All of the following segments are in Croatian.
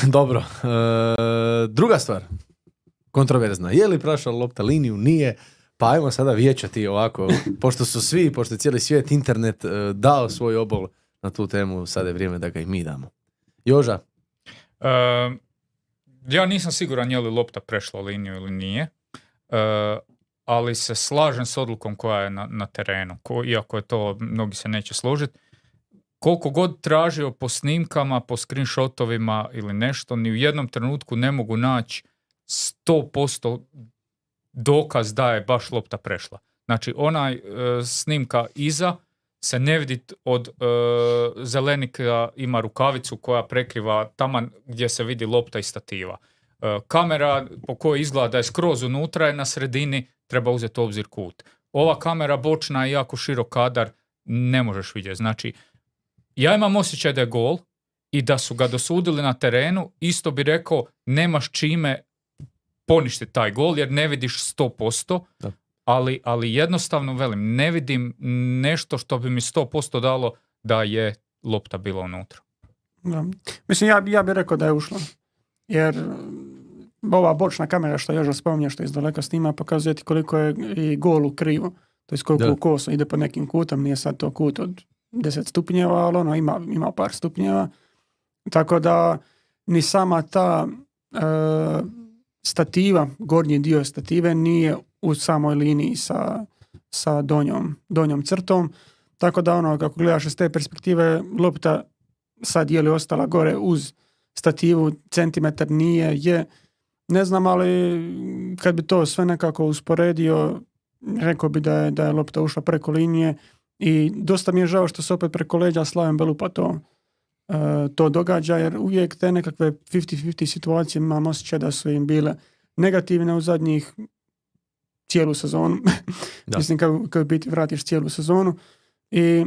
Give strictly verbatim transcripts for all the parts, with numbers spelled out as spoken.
Dobro. E, druga stvar. Kontroverzna. Je li prošla lopta liniju? Nije. Pa ajmo sada vijećati ovako. Pošto su svi, pošto je cijeli svijet, internet e, dao svoj obol na tu temu, sada je vrijeme da ga i mi damo. Joža? Uh, ja nisam siguran je li lopta prešla liniju ili nije. Uh, ali se slažem s odlukom koja je na, na terenu. Ko, iako je to, mnogi se neće složiti. Koliko god tražio po snimkama, po screenshotovima ili nešto, ni u jednom trenutku ne mogu naći sto posto dokaz da je baš lopta prešla. Znači, onaj e, snimka iza se ne vidi od e, Zelenika ima rukavicu koja prekriva taman gdje se vidi lopta i stativa. E, kamera po kojoj izgleda da je skroz unutra je na sredini, treba uzeti u obzir kut. Ova kamera bočna je jako širok kadar, ne možeš vidjeti. Znači, ja imam osjećaj da je gol i da su ga dosudili na terenu, isto bi rekao, nemaš čime poništiti taj gol jer ne vidiš sto posto, ali, ali jednostavno velim, ne vidim nešto što bi mi sto posto dalo da je lopta bila unutra. Da. Mislim, ja, ja bih rekao da je ušla. Jer ova bočna kamera što Joža spominje, što iz daleka snima, pokazuje ti koliko je i gol u krivo. To je koliko u kosu ide po nekim kutom, nije sad to kut od deset stupnjeva, ali ono ima, ima par stupnjeva. Tako da ni sama ta e, stativa, gornji dio stative nije u samoj liniji sa, sa donjom, donjom crtom. Tako da ono, kako gledaš iz te perspektive, lopta sad je li ostala gore uz stativu, centimetar nije, je, ne znam, ali kad bi to sve nekako usporedio, rekao bi da je, da je lopta ušla preko linije i dosta mi je žao što se opet preko leđa Slaven Belupa to, uh, to događa, jer uvijek te nekakve fifty fifty situacije imam osjećaj da su im bile negativne u zadnjih cijelu sezonu. Mislim, kad, kad biti vratiš cijelu sezonu i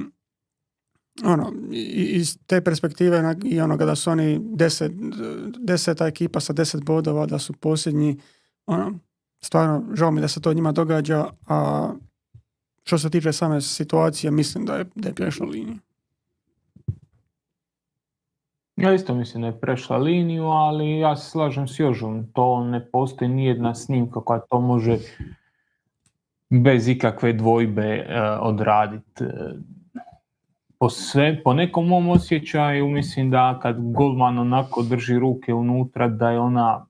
ono, iz te perspektive i onoga da su oni deset, deseta ekipa sa deset bodova, da su posljednji, ono, stvarno žao mi da se to njima događa, a što se tiče same situacije, mislim da je, da je prešla liniju. Ja isto mislim da je prešla liniju, ali ja se slažem s Jožom. To ne postoji nijedna snimka koja to može bez ikakve dvojbe uh, odraditi. Po, sve, po nekom mom osjećaju mislim da kad golman onako drži ruke unutra da je ona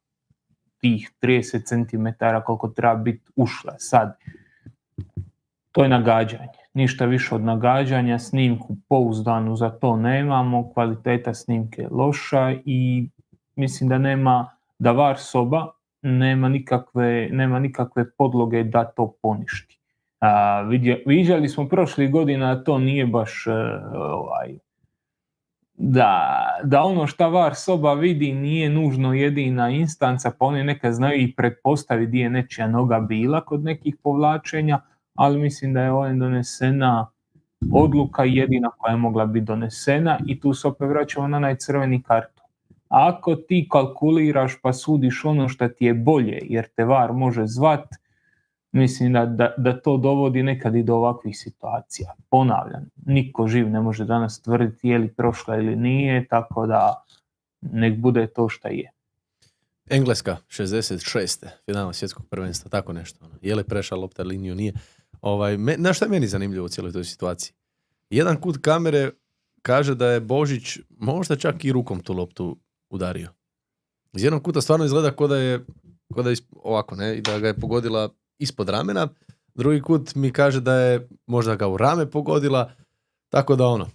tih trideset centimetara koliko treba biti ušla. Sad, to je nagađanje. Ništa više od nagađanja, snimku pouzdanu za to nemamo, kvaliteta snimke je loša i mislim da nema, da var soba nema nikakve, nema nikakve podloge da to poništi. A, vidje, viđali smo prošlih godina da to nije baš uh, ovaj, da, da ono šta var soba vidi nije nužno jedina instanca, pa oni nekad znaju i pretpostaviti gdje je nečija noga bila kod nekih povlačenja, ali mislim da je ovdje donesena odluka jedina koja je mogla biti donesena i tu se opet vraćamo na onaj crveni karton. Ako ti kalkuliraš pa sudiš ono što ti je bolje jer te var može zvat, mislim da, da, da to dovodi nekad i do ovakvih situacija. Ponavljam, niko živ ne može danas tvrditi je li prošla ili nije, tako da nek bude to šta je. Engleska, šezdeset šeste finala svjetskog prvenstva, tako nešto. Je li prešla lopta liniju, nije. Ovaj, me, na što je meni zanimljivo u cijeloj toj situaciji? Jedan kut kamere kaže da je Božić možda čak i rukom tu loptu udario. Iz jednog kuta stvarno izgleda kao da je, kao da je ovako, ne, da ga je pogodila ispod ramena. Drugi kut mi kaže da je možda ga u rame pogodila. Tako da ono,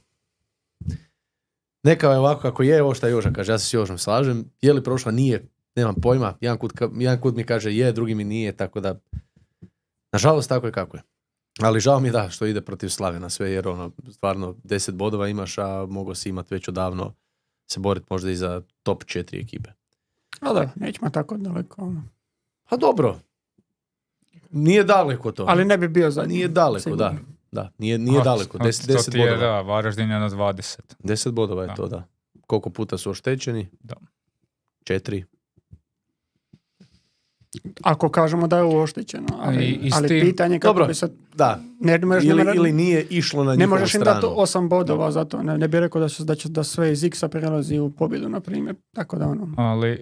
neka je ovako kako je, ovo što je Joža kaže, ja se s Jožom slažem. Je li prošla? Nije. Nemam pojma. Jedan kut, jedan kut mi kaže je, drugi mi nije, tako da nažalost tako je kako je. Ali žao mi je da što ide protiv Slavena sve, jer ono, stvarno deset bodova imaš, a mogo si imati već odavno se boriti možda i za top četiri ekipe. A da, nećemo tako daleko. A dobro. Nije daleko to. Ali ne bi bio za Nije daleko, sigurno. da. Da, nije, nije a, daleko. Des, to deset ti je, bodova. da, Varaždin je na dvadeset. Deset bodova je da. to, da. Koliko puta su oštećeni? Da. Četiri. Ako kažemo da je ovo oštećeno, ali, I- i s ali tim- pitanje kako Dobro, bi sad... da. Ne, ne možeš- ne Ili, možeš- ili nije išlo na ne njihovu možeš im dati stranu. osam bodova za to. Ne, ne bi rekao da, će, da, će, da sve iz X-a prelazi u pobjedu, na primjer. Tako da ono... Ali